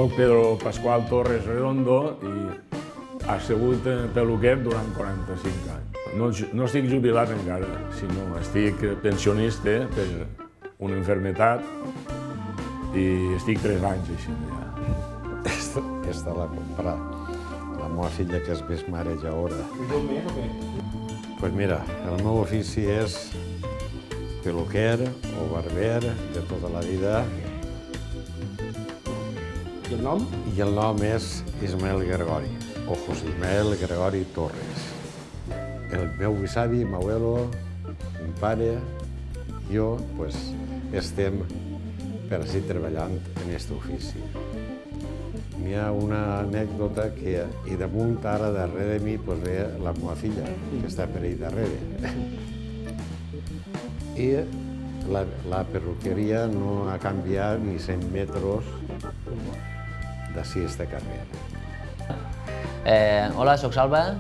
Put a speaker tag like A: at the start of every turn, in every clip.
A: Soc Pedro Pascual Torres Redondo i he sigut peluquer durant 45 anys. No estic jubilat encara, sinó estic pensionista per una malaltia i estic 3 anys així ja.
B: Aquesta la comprà la meva filla, que és més mare ja ara. Pues mira, el meu ofici és peluquer o barber de tota la vida.
C: I el nom?
B: I el nom és Ismael Gregori, o José Ismael Gregori Torres. El meu besavi, meu abuelo, mon pare, jo, pues, estem per així treballant en aquest ofici. N'hi ha una anècdota que, i damunt ara darrere de mi, pues, ve la meva filla, que està per ahí darrere. I la perruqueria no ha canviat ni 100 metres d'ací a este carrer.
D: Hola, soc Salva.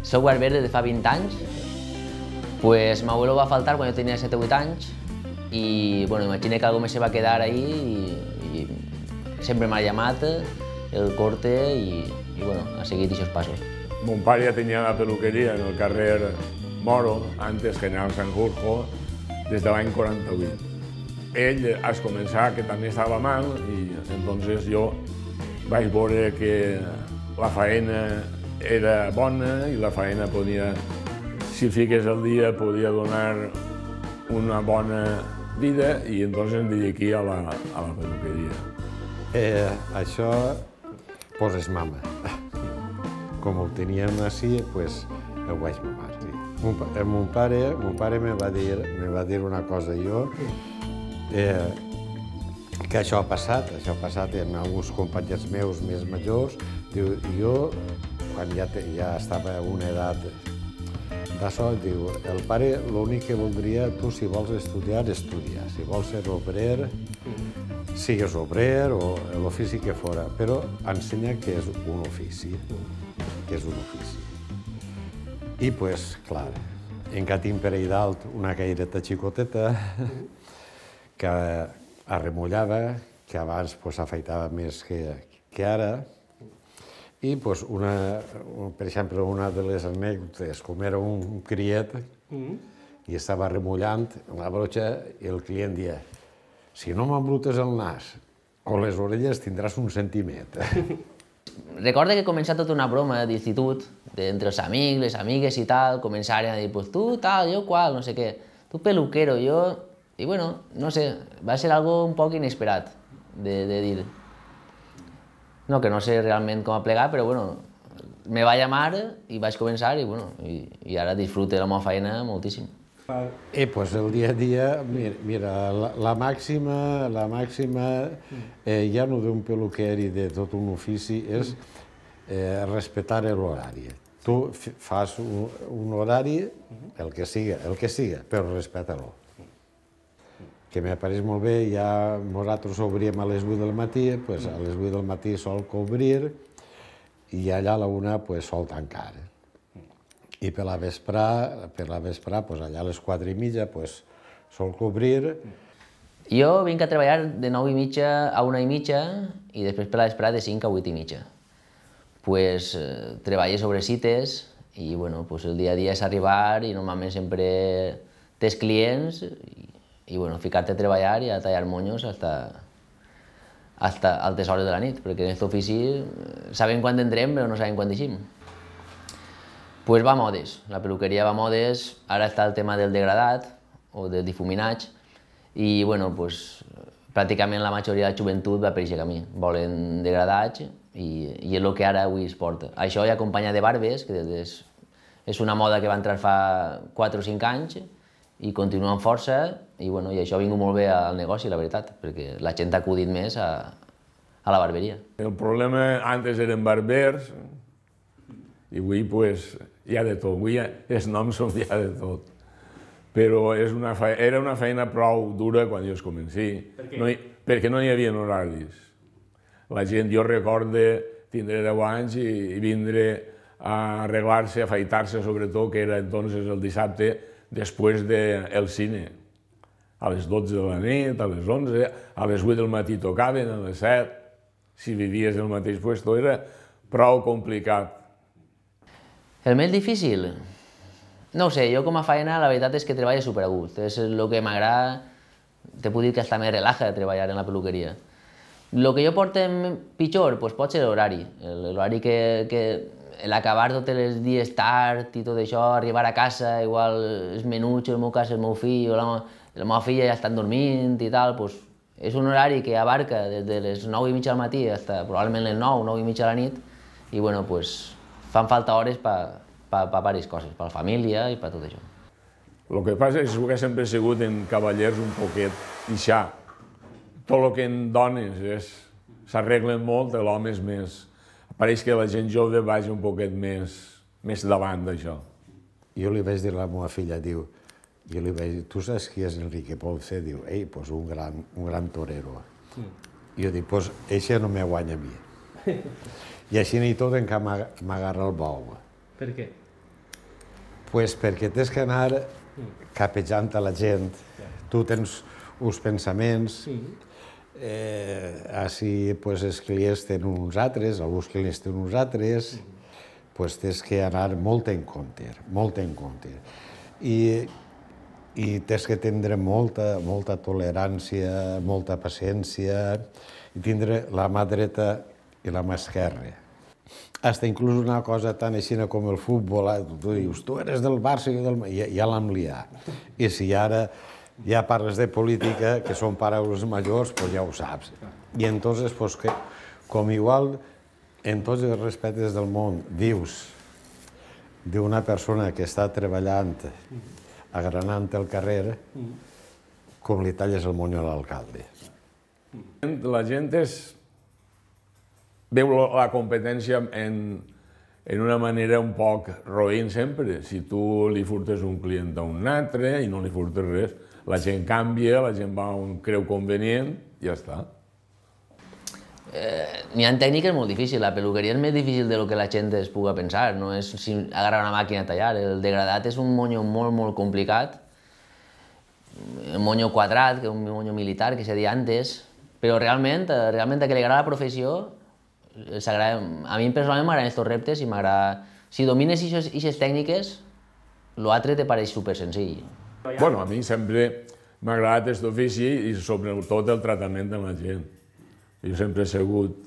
D: Soc barber des de fa 20 anys. Pues meu abuelo va faltar quan jo tenia 7 o 8 anys i bueno, imagina que algú me se va quedar ahí i sempre m'ha llamat el corte i bueno, ha seguit aquests passos.
A: Mon pare ja tenia la peluqueria en el carrer Moro, antes General Sanjurjo, des de l'any 48. Ell has començar que també estava mal i entonces jo vaig veure que la faena era bona i la faena podia, si fiques el dia, podia donar una bona vida i entonces em dediqué a la peluqueria.
B: Això, pues, és mama. Com ho teníem així, pues, ho vaig mamar. Mon pare me va dir una cosa jo, que això ha passat amb alguns companys meus més majors. Diu, jo, quan ja estava a una edat d'això, diu, el pare l'únic que voldria, tu si vols estudiar, estudia. Si vols ser obrer, sigues obrer o l'ofici que fora, però ensenya que és un ofici, I, pues, clar, encara tinc per ahí dalt una caireta xicoteta que arremullava, que abans afeitava més que ara. I, per exemple, una de les anècdotes, com era un criet i estava remullant la broxa i el client deia: si no m'embrutes el nas o les orelles tindràs un sentiment.
D: Recordo que començava tota una broma d'institut, entre els amics, les amigues i tal, començaren a dir, pues tu tal, jo qual, no sé què, tu peluquero, jo... I bueno, no sé, va ser algo un poc inesperat de dir. No, que no sé realment com plegar, però bueno, me va llamar i vaig començar i ara disfruto de la meva feina moltíssim.
B: Pues el dia a dia, mira, la màxima ja no d'un peluquer i de tot un ofici és respectar l'horari. Tu fas un horari, el que siga, però respecta-lo. Que m'apareix molt bé, ja nosaltres obríem a les 8 del matí, doncs a les 8 del matí sol cobrir i allà a la 1 sol tancar. I per la vesprà, allà a les 4:30, sol cobrir.
D: Jo vinc a treballar de 9:30 a 1:30 i després per la vesprà de 5 a 8:30. Treballo sobre cites i el dia a dia és arribar i normalment sempre tens clients i ficar-te a treballar i a tallar monyos fins a altes hores de la nit, perquè en aquest ofici sabem quan entrem però no sabem quan deixim. Va a modes, la peluqueria va a modes, ara està el tema del degradat o del difuminatge i pràcticament la majoria de la joventut va per aquest camí, volen degradatge i és el que ara avui es porta. Això i acompanyat de barbes, que és una moda que va entrar fa 4 o 5 anys i continua amb força i això ha vingut molt bé al negoci, la veritat, perquè la gent ha acudit més a a la barberia.
A: El problema antes eren barbers i avui pues, hi ha de tot, avui els noms són ja de tot. Però era una feina prou dura quan jo es comenci, perquè no hi havia horaris. La gent, jo recordo tindre 10 anys i vindre a arreglar-se, a afaitar-se sobretot, que era entonces el dissabte després del cine. A les 12 de la nit, a les 11, a les 8 del matí tocaven, a les 7. Si vivies al mateix puesto era prou complicat.
D: El més difícil? No ho sé, jo com a feina la veritat és que treballo superagust. És el que m'agrada, te puc dir que hasta me relaja treballar en la peluqueria. El que jo porto pitjor doncs pot ser l'horari. L'horari que l'acabar tots els dies tard i tot això, arribar a casa, igual els menuts, el meu cas, el meu fill o la meva filla ja estan dormint i tal, doncs és un horari que abarca des de les 9:30 del matí fins probablement les 9, 9:30 de la nit i bueno, doncs fan falta hores per diverses coses, per la família i per tot això.
A: El que passa és que sempre he sigut en cavallers un poquet deixar. Tot el que en dones s'arreglen molt, l'home és més. Pareix que la gent jove vagi un poquet més davant d'això.
B: Jo li vaig dir a la meva filla, jo li vaig dir, tu saps qui és Enrique Ponce? Diu, doncs un gran torero. Jo dic, doncs eixe no me guanya a mi. I així ni tot en què m'agarra el bou.
C: Per què?
B: Doncs perquè tens que anar capejant a la gent. Tu tens uns pensaments, així els clients tenen uns altres, alguns clients tenen uns altres, doncs tens que anar molt en compte, molt en compte. I tens que tindre molta tolerància, molta paciència, i tindre la mà dreta i la mà esquerra. Hasta inclús una cosa tan així com el futbol, tu dius, tu eres del Barça i ja l'hem liat. I si ara ja parles de política, que són paraules majors, doncs ja ho saps. I entonces, com igual en tots els respectes del món dius d'una persona que està treballant agranant el carrer, com li talles el monyo a l'alcalde.
A: La gent veu la competència en una manera un poc roïn sempre. Si tu li furtes un client a un altre i no li furtes res, la gent canvia, la gent va on creu convenient i ja està.
D: N'hi ha tècniques molt difícils. La peluqueria és més difícil del que la gent es pugui pensar. No és agarrar una màquina a tallar. El degradat és un monyo molt complicat. Un monyo quadrat, que és un monyo militar, que se deia antes. Però realment a qui li agrada la professió, a mi personalment m'agraden aquests reptes i m'agrada... Si domines aquestes tècniques, l'altre te pareix super senzill.
A: Bueno, a mi sempre m'ha agradat aquest ofici i sobretot el tractament de la gent. Jo sempre he sigut,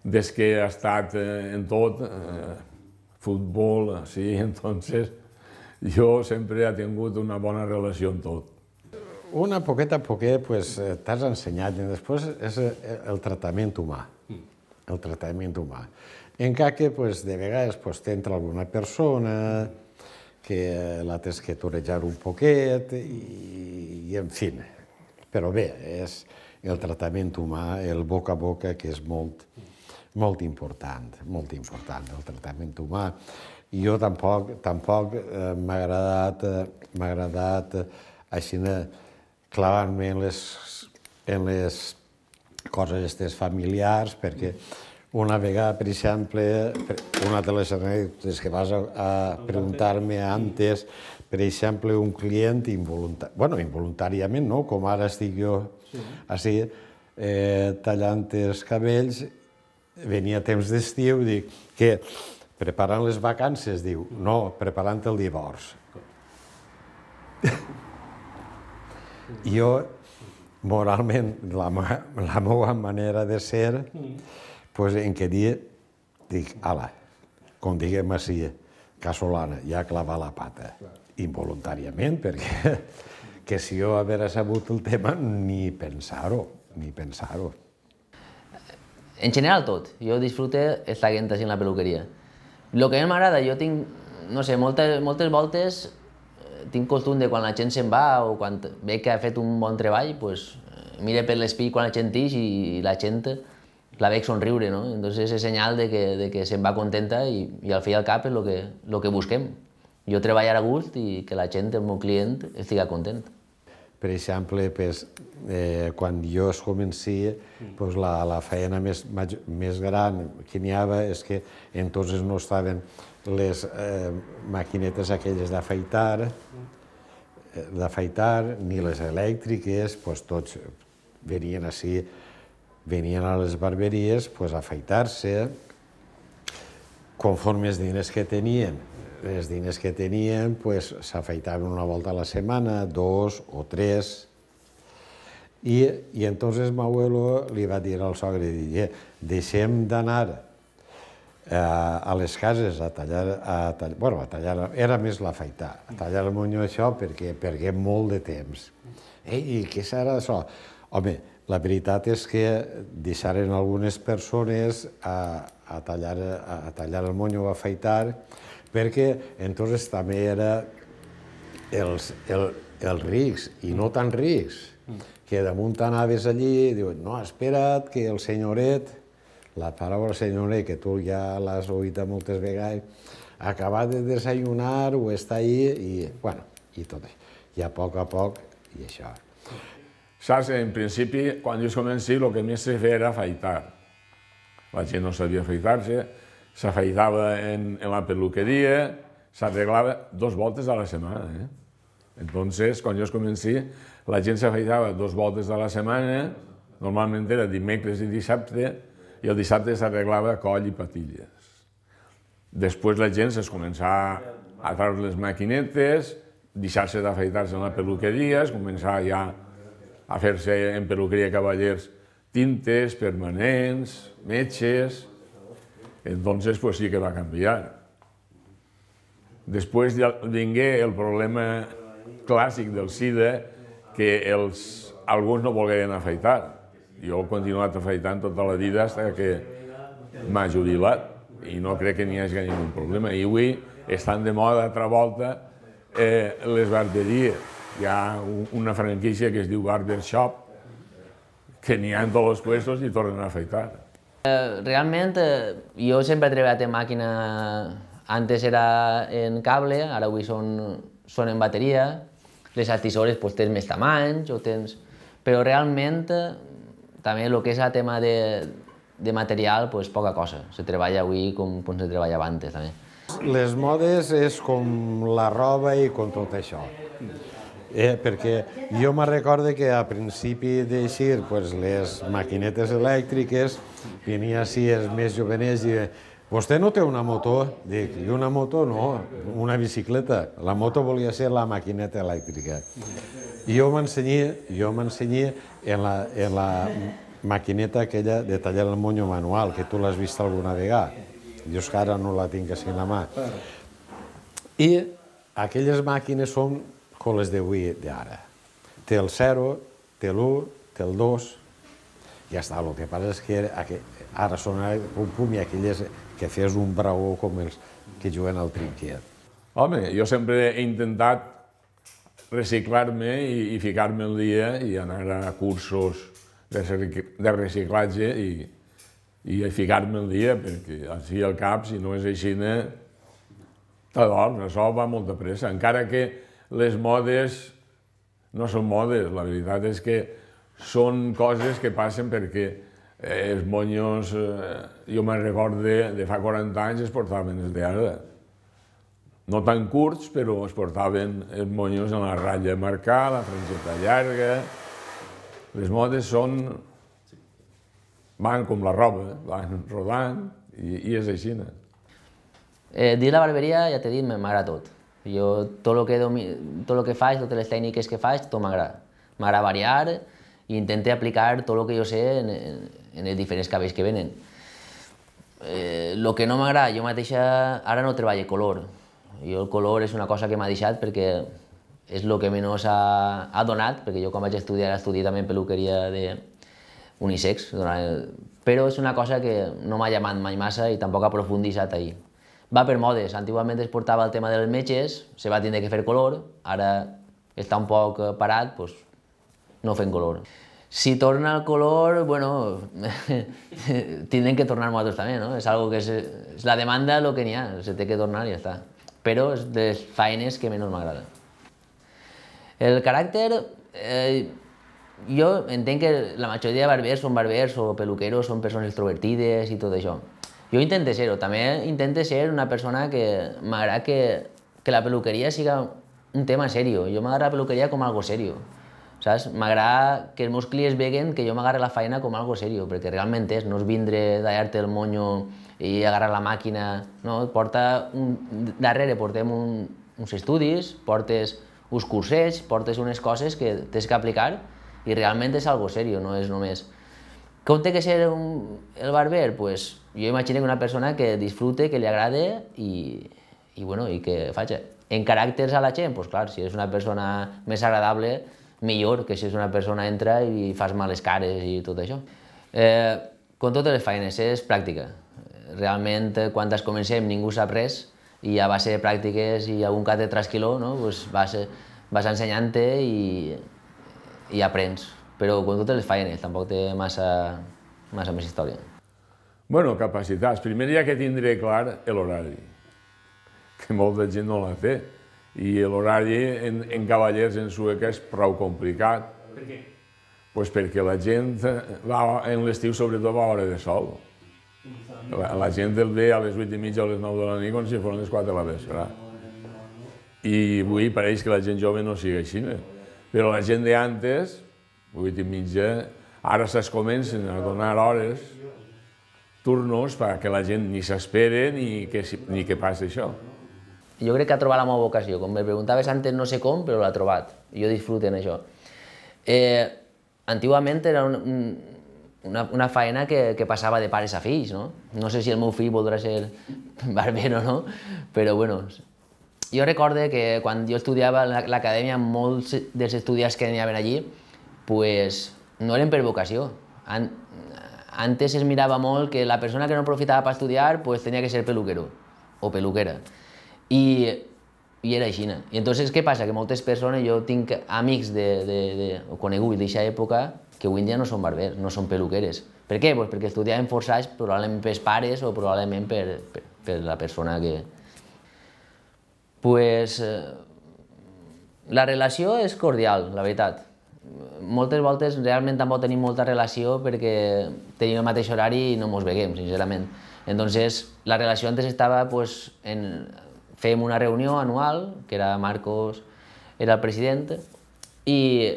A: des que he estat en tot, futbol, sí, entonces jo sempre he tingut una bona relació amb tot.
B: Una poquet a poquet t'has ensenyat i després és el tractament humà. El tractament humà. Encara que de vegades t'entra alguna persona que la tens que torejar un poquet i en fi. Però bé, és el tractament humà, el boca a boca, que és molt important, el tractament humà. I jo tampoc m'ha agradat així clavar-me en les coses aquestes familiars, perquè una vegada, per exemple, una de les anècdotes que vas a preguntar-me antes, per exemple, un client involuntàriament, no? Com ara estic jo així tallant els cabells, venia temps d'estiu, dic, que preparant les vacances, diu, no, preparant el divorci. Jo, moralment, la meva manera de ser, en què dia, dic, ala, com diguem així, casolana, ja clavar la pata, involuntàriament, perquè que si jo hagués sabut el tema, ni pensar-ho.
D: En general tot. Jo disfrute estar així en la peluqueria. El que a mi m'agrada, jo tinc, no sé, moltes voltes tinc costum de quan la gent se'n va o quan veig que ha fet un bon treball, mire per l'espill quan la gent ix i la gent la veig somriure, no? Entonces és senyal de que se'n va contenta i al fi i al cap és el que busquem. Jo treballar a gust i que la gent, el meu client, estigui content.
B: Per exemple, quan jo es comencia, la feina més gran que n'hi havia és que entonces no estaven les maquinetes aquelles d'afaitar, ni les elèctriques, tots venien així, venien a les barberies a afaitar-se, conforme els diners que tenien. Els diners que tenien s'afaitaven una volta a la setmana, 2 o 3, i entonces m'abuelo li va dir al sogre, deixem d'anar a les cases a tallar, era més l'afaitar, a tallar el monyo això perquè perguem molt de temps. I què serà això? Home, la veritat és que deixaren algunes persones a tallar el monyo o a afaitar, perquè entonces també era els rics i no tan rics, que damunt anaves allí i diuen, no, espera't que el senyoret, la paraula senyoret, que tu ja l'has oït moltes vegades, ha acabat de desayunar o està allí i tot això. I a poc, i això.
A: Saps, en principi, quan jo comenci, el que més se feia era afaitar. La gent no sabia afaitar-se, s'afaitava en la peluqueria, s'arreglava 2 voltes a la setmana. Entonces, quan jo comenci, la gent s'afaitava 2 voltes a la setmana, normalment era dimecres i dissabte, i el dissabte s'arreglava coll i patilles. Després la gent es començava a treure les maquinetes, deixar-se d'afaitar-se en la peluqueria, es començava ja a fer-se en peluqueria cavallers tintes, permanents, metges. Entonces, pues sí que va canviar. Després vingué el problema clàssic del SIDA, que alguns no volgueren afaitar. Jo he continuat afaitant tota la vida fins que m'ha jubilat i no crec que n'hi hagi cap problema. I avui estan de moda altra volta les barberies. Hi ha una franquícia que es diu Barbershop, que n'hi ha en tots els puestos i tornen a afaitar.
D: Realment, jo sempre he treballat en màquina, antes era en cable, ara avui són en bateria, les altissores tens més tamanys, però realment també el que és el tema de material, poca cosa, se treballa avui com se treballava antes també.
B: Les modes és com la roba i com tot això. Perquè jo me recordo que a principi d'eixir les maquinetes elèctriques venia així els més jovenets i diuen «Vostè no té una moto?» Dic, i una moto no, una bicicleta. La moto volia ser la maquineta elèctrica. I jo m'ensenyé en la maquineta aquella de tallar el monyo manual, que tu l'has vist alguna vegada. Jo és que ara no la tinc així a la mà. I aquelles màquines són com les d'avui d'ara. Té el 0, té l'1, té el 2, ja està. El que passa és que ara són pum-pum i aquelles que fes un braó com els que juguen al trinquet.
A: Home, jo sempre he intentat reciclar-me i ficar-me al dia i anar a cursos de reciclatge i ficar-me al dia, perquè així al cap, si no és així, t'adorms, això va molt de pressa. Encara que les modes no són modes, la veritat és que són coses que passen perquè els monyos, jo me'n recordo de fa 40 anys, es portaven els d'ara. No tan curts, però es portaven els monyos en la ratlla marcada, la frangeta llarga. Les modes van com la roba, van rodant i és així.
D: Dins la barberia, ja t'he dit, m'agrada tot. Jo, tot el que faig, totes les tècniques que faig, tot m'agrada. M'agrada variar i intento aplicar tot el que jo sé en els diferents cabells que venen. El que no m'agrada, jo mateixa ara no treballo color. Jo el color és una cosa que m'ha deixat perquè és el que menys ha donat, perquè jo quan vaig estudiar també en peluqueria unisex, però és una cosa que no m'ha llamat mai massa i tampoc ha profunditzat ahir. Va per modes, antigament es portava el tema dels metges, se va tindre que fer color, ara està un poc parat, doncs no fem color. Si torna el color, bueno, tindrem que tornar nosaltres també, no? És algo que és la demanda el que n'hi ha, se té que tornar i ja està. Però és de les feines que menys m'agrada. El caràcter, jo entenc que la majoria de barbers o peluqueros són persones extrovertides i tot això. Jo intento ser-ho, també intento ser una persona que m'agrada que la peluqueria siga un tema serio. Jo m'agrada la peluqueria com algo serio. Saps? M'agrada que els meus clients veguen que jo m'agarre la feina com algo serio, perquè realment és, no és vindre tallar-te el monyo i agarrar la màquina, no? Darrere portem uns estudis, portes uns cursets, portes unes coses que tens que aplicar i realment és algo serio, no és només... Com té que ser el barber? Pues jo imagino que una persona que disfrute, que li agrade i que faci. En caràcters a la gent, pues clar, si és una persona més agradable, millor que si és una persona entra i fas males cares i tot això. Com totes les feines, és pràctica. Realment, quan es comencem ningú sap res i a base de pràctiques i algun que té trasquiló, vas ensenyant-te i aprens. Però com totes les feines, tampoc té massa més història.
A: Bueno, capacitats. Primer hi ha que tindre clar l'horari, que molta gent no la té. I l'horari en cavallers en Sueca és prou complicat.
C: Per què?
A: Pues perquè la gent en l'estiu sobretot va a hora de sol. La gent el ve a les 8:30 o a les 9 de la nit com si fos les 4 de la vespre. I avui pareix que la gent jove no sigui així. Però la gent d'antes, 8:30, ara se'ls comencen a donar hores, turnos, perquè la gent ni s'espera ni que passi això.
D: Jo crec que ha trobat la meva vocació. Com me preguntaves antes, no sé com, però l'ha trobat. Jo disfruto en això. Antigament era una feina que passava de pares a fills, no? No sé si el meu fill voldrà ser barber o no, però bueno. Jo recorde que quan jo estudiava a l'acadèmia, molts dels estudiants que anaven allí no eren per vocació. Antes es mirava molt que la persona que no aprofitava per estudiar tenia que ser peluquero o peluquera. I era així. I entonces què passa? Que moltes persones, jo tinc amics coneguts d'aquesta època que avui en dia no són barbers, no són peluqueres. Per què? Perquè estudiaven forçats probablement pels pares o probablement per la persona que... La relació és cordial, la veritat. Moltes voltes realment tampoc tenim molta relació perquè tenim el mateix horari i no ens veiem, sincerament. Entonces, la relació antes estava fèiem una reunió anual, que era Marcos, era el president, i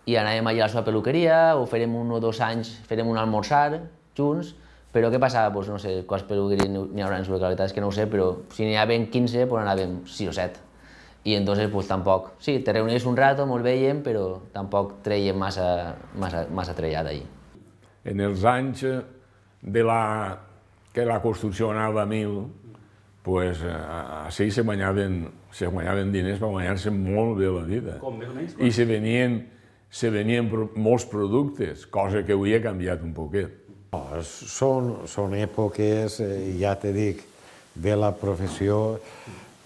D: anàvem allà a la seva peluqueria, o fèrem 1 o 2 anys, fèrem un almorzar junts, però què passava? No sé quants peluqueries n'hi haurà en Sueca, la veritat és que no ho sé, però si n'hi havien 15, anàvem 6 o 7. I entonces tampoc, sí, te reunies un rato, ens veiem, però tampoc treiem massa trellat allí.
A: En els anys que la construcció anava a 1000, així se guanyaven diners per guanyar-se molt bé la vida.
C: Com, més o menys?
A: I se venien molts productes, cosa que avui ha canviat un poquet.
B: Són èpoques, ja te dic, ve la professió,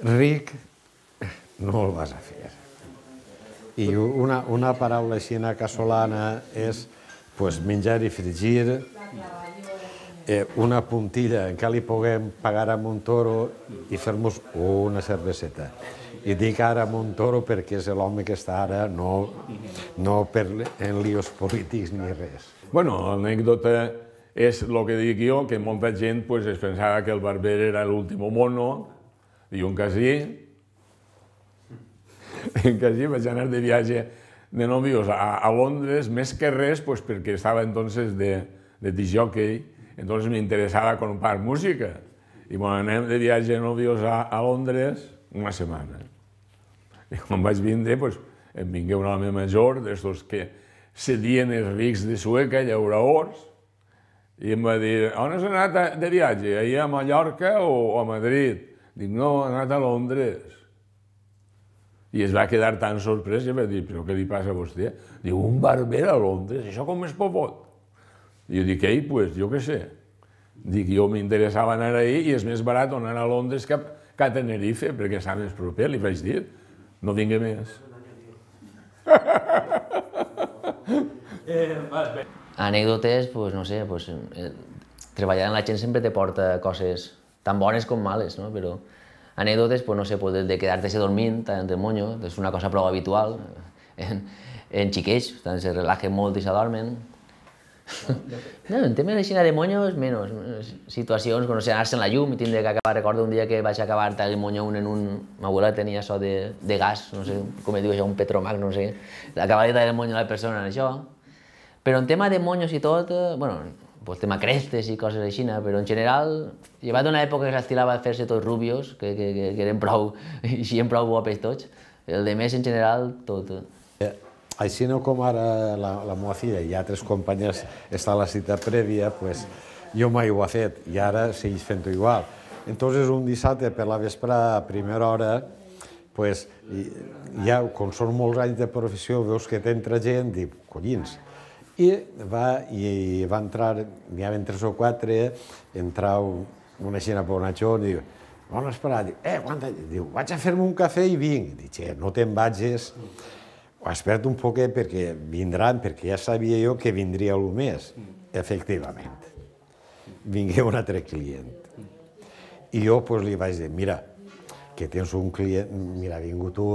B: ric no el vas a fer. I una paraula així casolana és menjar i fregir, una puntilla en què li puguem pagar a un toro i fer-nos una cerveseta. I dic ara a un toro perquè és l'home que està ara, no en líos polítics ni res.
A: Bueno, l'anècdota és el que dic jo, que molta gent es pensava que el barber era l'últim mono, i un casí vaig anar de viatge de novios a Londres, més que res perquè estava entonces de disc-jockey, entonces m'interessava comprar música. I anem de viatge de novios a Londres una setmana. I quan vaig vindre, em vingué un home major, d'estos que sedien els rics de Sueca, llauradors, i em va dir, on has anat de viatge? Ahir a Mallorca o a Madrid? Dic, no, he anat a Londres. I es va quedar tan sorprès i va dir, però què li passa a vostè? Diu, un barber a Londres, això com es pot? I jo dic, jo què sé. Dic, jo m'interessava anar ahir i és més barat anar a Londres que a Tenerife, perquè està més proper, li vaig dir. No vingui més.
D: Anècdotes, pues, no sé, pues, treballar amb la gent sempre te porta coses tan bones com males, no? Però anècdotes, pues, no sé, pues, de quedar-te dormint entre el monyo, és una cosa prou habitual en xiquets, se relajen molt i s'adormen. No, en temes així de monyos, menys. Situacions, com no sé, anar-se en la llum i tindre que acabar. Recordo un dia que vaig acabar el monyo en un... Ma abuela tenia això de gas, no sé com es diu això, un Petromax, no sé. Acabar de tallar el monyo a la persona en això. Però en tema de monyos i tot, bueno, pues tema crestes i coses així, però en general, llevat d'una època que s'estilava a fer-se tots rubios, que eren prou, eixien prou guapes tots, el de més en general, tot.
B: Així no com ara la meva filla i altres companyes està a la cita prèvia, pues, jo mai ho he fet i ara segueix fent-ho igual. Entonces, un dissabte per la vesprada, a primera hora, pues, ja, com són molts anys de professió, veus que t'entra gent, dic, collins. I va entrar, n'hi havia 3 o 4, entrau una xina per una xona i diu, on esperar? Diu, vaig a fer-me un cafè i vinc. Dic, no te'n vagis, espera't un poquet perquè vindran, perquè ja sabia jo que vindria el mes. Efectivament. Vingué un altre client. I jo li vaig dir, mira, que tens un client, mira, ha vingut tu,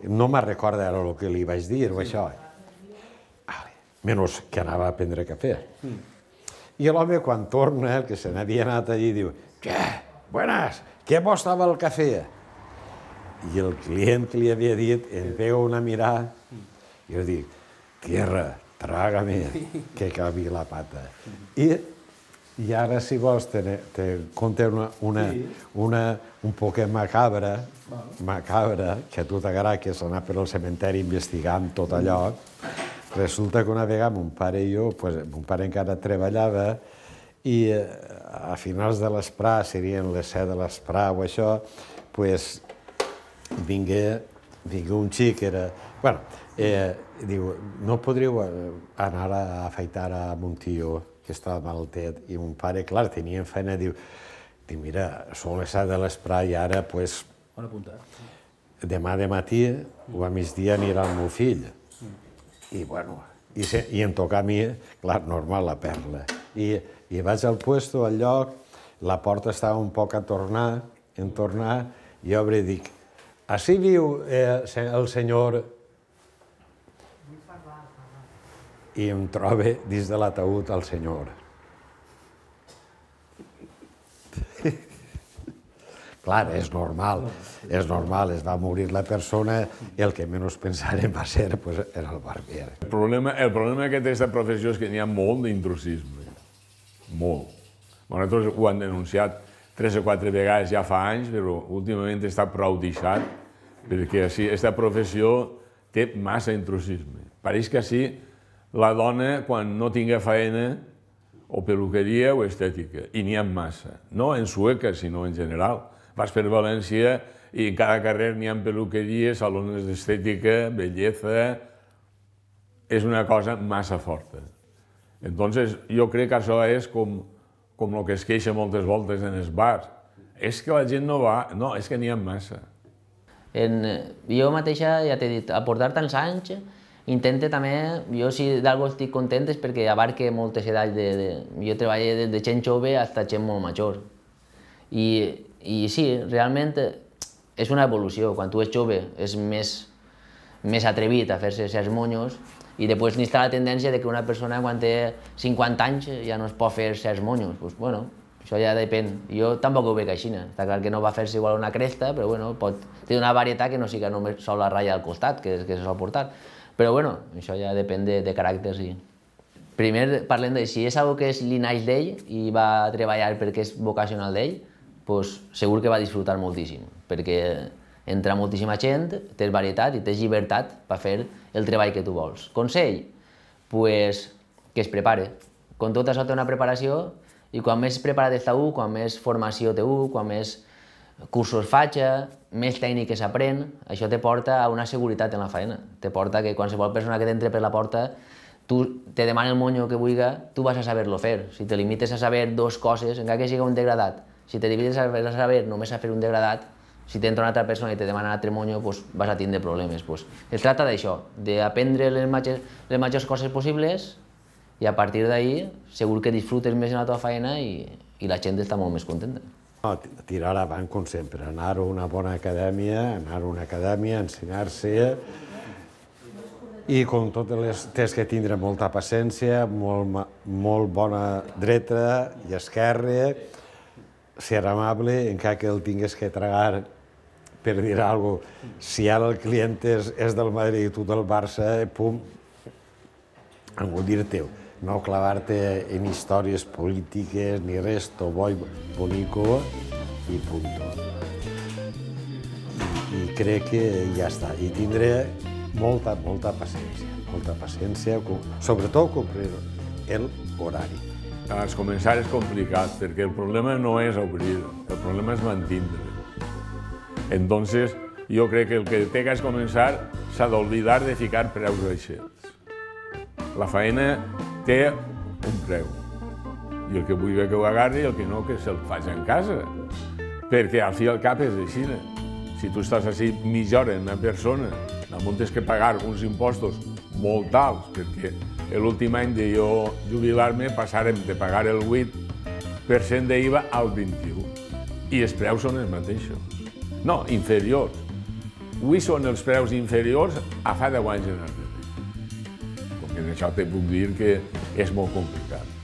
B: no me'n recorda ara el que li vaig dir o això. Menys que anava a prendre cafè. I l'home, quan torna, el que se n'havia anat allí, diu, què? Buenas, què bo estava el cafè? I el client que li havia dit em pega una mirada i jo dic, tierra, trágame, que cabi la pata. I ara, si vols, te conté un poquet macabra, que a tu t'agrada, que és anar per al cementeri investigant tot allò. Resulta que una vegada mon pare i jo, mon pare encara treballava, i a finals de l'esprà, serien les 7 de l'esprà o això, vingué un xic, diu, no podríeu anar a afaitar a mon tio, que estava malaltet, i mon pare, clar, tenia feina, diu, mira, són les 7 de l'esprà i ara, demà de matí o a migdia anirà el meu fill. I, bueno, i em toca a mi, clar, normal, la perla. I vaig al puesto, al lloc, la porta estava un poc a tornar, i obre i dic, així viu el senyor... I em trobe dins de l'ataúd el senyor. Clar, és normal, es va morir la persona i el que menys pensarem va ser era el barber.
A: El problema que té aquesta professió és que n'hi ha molt d'intrusisme, molt. Nosaltres ho han denunciat 3 o 4 vegades ja fa anys, però últimament està prou deixat, perquè aquesta professió té massa intrusisme. Pareix que així la dona, quan no tingui feina, o peluqueria o estètica, i n'hi ha massa. No en Sueca, sinó en general. Vas per València i en cada carrer n'hi ha peluqueries, salons d'estètica, bellesa... És una cosa massa forta. Entonces, jo crec que això és com el que es queixa moltes voltes en els bars. És que la gent no va... No, és que n'hi ha massa.
D: Jo mateixa, ja t'he dit, a portar tants anys, intente també, jo si d'algú estic content és perquè abarque moltes edats. Jo treballo des de gent jove fins a gent molt major. I sí, realment és una evolució. Quan tu ets jove és més atrevit a fer-se certs monyos i després n'hi ha la tendència que una persona quan té 50 anys ja no es pot fer certs monyos. Doncs, bueno, això ja depèn. Jo tampoc ho veig així. Està clar que no va fer-se igual una cresta, però bueno, té una varietat que no sigui només sol la ratlla al costat, que se sol portar. Però bueno, això ja depèn de caràcters. Primer parlem de si és algo que li naix d'ell i va treballar perquè és vocacional d'ell, doncs segur que va disfrutar moltíssim, perquè entra moltíssima gent, tens varietat i tens llibertat per fer el treball que tu vols. Consell? Doncs que es prepare. Com tot això té una preparació i quan més preparat està un, quan més formació té un, quan més cursos faig, més tècniques aprèn, això te porta a una seguretat en la feina. Te porta que qualsevol persona que t'entre per la porta, tu te demana el monyo que vulgui, tu vas a saber-lo fer. Si te limites a saber 2 coses, encara que sigui un degradat, si te limites a saber només a fer un degradat, si t'entra una altra persona i te demana un altre monyo, vas a tindre problemes. Es tracta d'això, d'aprendre les majors coses possibles i a partir d'ahir segur que disfrutes més en la teva feina i la gent està molt més contenta.
B: Tirar avant, com sempre, anar a una bona acadèmia, ensenyar-se i, com totes les, tens que tindre molta paciència, molt bona dreta i esquerra, ser amable, encara que el tingues que tragar per dir alguna cosa. Si ara el client és del Madrid i tu del Barça, pum, algú dir-te-ho. No clavar-te en històries polítiques ni res, to bo i bonico i punto. I crec que ja està. I tindré molta paciència, sobretot complir l'horari.
A: Al començar és complicat, perquè el problema no és obrir, el problema és mantindre. Entonces, jo crec que el que té que començar s'ha d'oblidar de ficar preus baixets. La feina té un preu, i el que vulgui que ho agarri i el que no que se'l faci en casa, perquè al fi i al cap és així. Si tu estàs així mitja hora en una persona, damunt tens que pagar uns impostos molt alts, perquè l'últim any de jo jubilar-me passàrem de pagar el 8% d'IVA al 21%, i els preus són els mateixos. No, inferiors. Avui són els preus inferiors a fa 10 anys en el perquè en això te puc dir que és molt complicat.